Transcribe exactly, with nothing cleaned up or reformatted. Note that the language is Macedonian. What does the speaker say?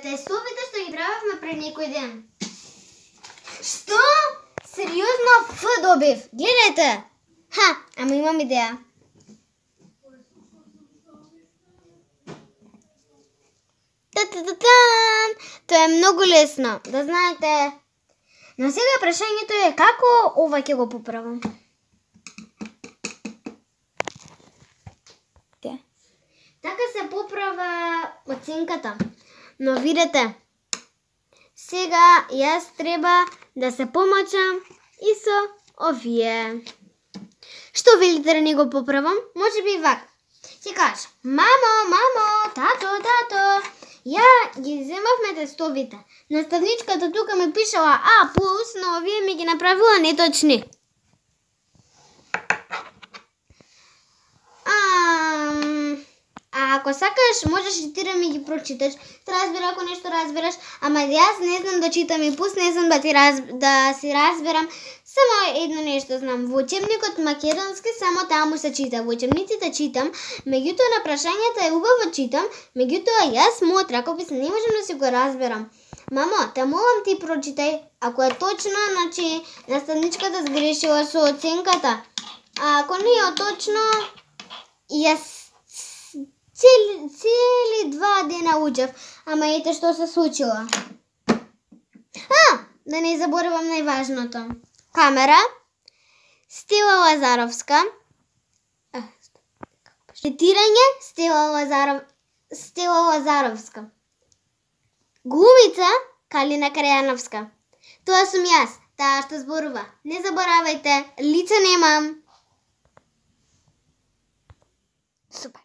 тестовите што ги правевме пред некој ден. Што? Сериозно Ф добив. Гледајте. Ха, ама имам идеја. Та-та-та-тан! Тоа е многу лесно, да знаете. Но сега прашањето е како ова ќе го поправам. Така се поправа оценката. Но видете, сега јас треба да се помачам и со овие. Што велите да не го поправам? Може би вака. Ќе кажа, мамо, мамо, тато, тато, ја ги земавме тестовите. Наставничката тука ми пишала А плюс, но овие ми ги направила неточни. Ам... А ако сакаш, можеш и ти да ми ги прочиташ. Се разбира ако нешто разбираш, ама јас не знам да читам и пус, не знам да ти раз... да си разберам. Само едно нешто знам. Во учебникот македонски само таму се чита. Во учебниците читам, меѓутоа на прашањата е убаво читам, меѓутоа јас мојот ракопис не можам да си го разберам. Мамо, те молам ти прочитај. Ако е точно, значи наставничката сгрешила со оценката. А ако не е точно, јас Цели, цели два дена учев, ама ете што се случило. А, да не заборавам најважното. Камера, Стела Лазаровска. Четирање, Стела Лазаров, Стела Лазаровска. Глумица, Калина Карјановска. Тоа сум јас, таа што зборува. Не заборавајте, лице немам. Супер.